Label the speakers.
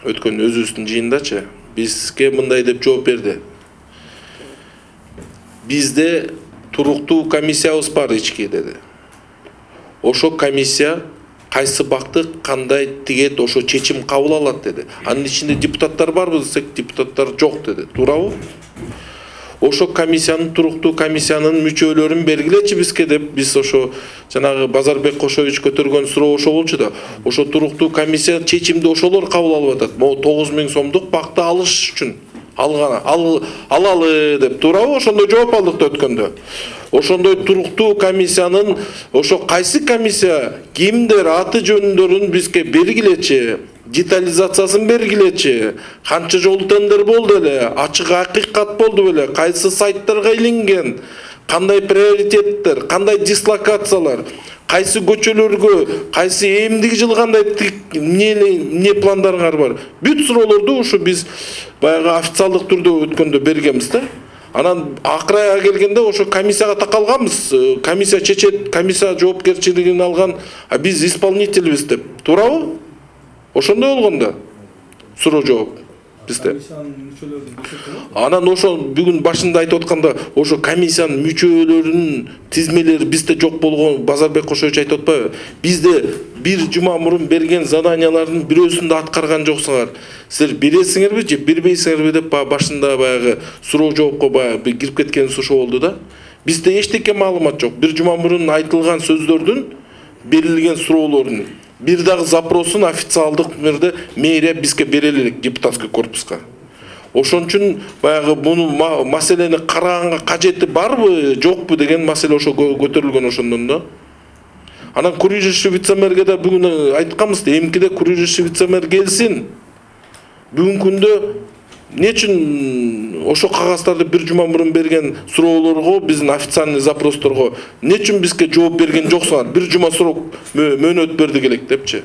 Speaker 1: өткөн өзүбүздүн жыйындачы бизге мындай деп жооп берди. Бизде туруктуу комиссиябыз бар ички деди. Ошо комиссия кайсы бакты кандай тигет ошо чечим кабыл алат деди. Анын ичинде депутаттар барбы десек, депутаттар жок деди. Туурабы? Ошо комиссиянын туруктуу комиссиянын мүчөлөрүн бергилечи бизге деп биз ошо жанагы Базарбек Кошович көтөргөн суроо ошо болчу да. Ошо туруктуу комиссия чечимди ошолор кабыл алып атат. Могу 9000 сомдук бакты алыш үчүн алалы деп. Туурабы? Ошондой жооп алдык да өткөндө. Ошондой туруктуу комиссиянын ошо кайсы комиссия кимдер аты жөндөрүн бизге бергилечи, детализациясын бергилечи, канча жолу тендер болду эле, ачык акыйкат болду беле, кайсы сайттарга илинген, кандай приоритеттер, кандай дислокациялар, кайсы көчөлөргө, кайсы эмдиги жылы кандай эмне пландарыңар бар. Бүт суроолорду ушу биз баягы официалдык түрдө өткөндө бергенбиз да. Анан акырайга келгенде ошо комиссияга такалганбыз. Комиссия чечет, комиссия жоопкерчилигин алган, а биз исполнительбиз деп. Туурабы? Ошондой болгон да. Суроо жооп бизде. Анан ошо бүгүн башында айтып атканда ошо комиссиянын мүчөлөрүнүн тизмелери бизде жок болгон Базарбек Кошович айтып атпайбы? Бизде бир жума мурун берген заданиялардын бирөөсүн да аткарган жоксуңар. Силер бересиңерби же бербейсиңерби деп башында баягы суроо жоопко баягы кирип кеткенибиз ошо болду да. Бизде эчтеке маалымат жок. Бир жума мурун айтылган сөздөрдүн берилген суроолордун бир дагы запросун официалдык түрдө мэрия бизге бере элек депутатский корпуска. Ошон үчүн баягы буну маселени караганга кажети барбы, жокпу деген маселе ошо көтөрүлгөн ошондон да. Анан курулуш вице-мэрге да бүгүн айтканбыз, эмкиде курулуш вице-мэр келсин. Бүгүнкү күндө эмне үчүн ошо кагаздарды бир жума мурун берген суроолорго, биздин официальный запросторго эмне үчүн бизге жооп берген жоксуңар? Бир жума срок мөөнөт бердик элек депчи.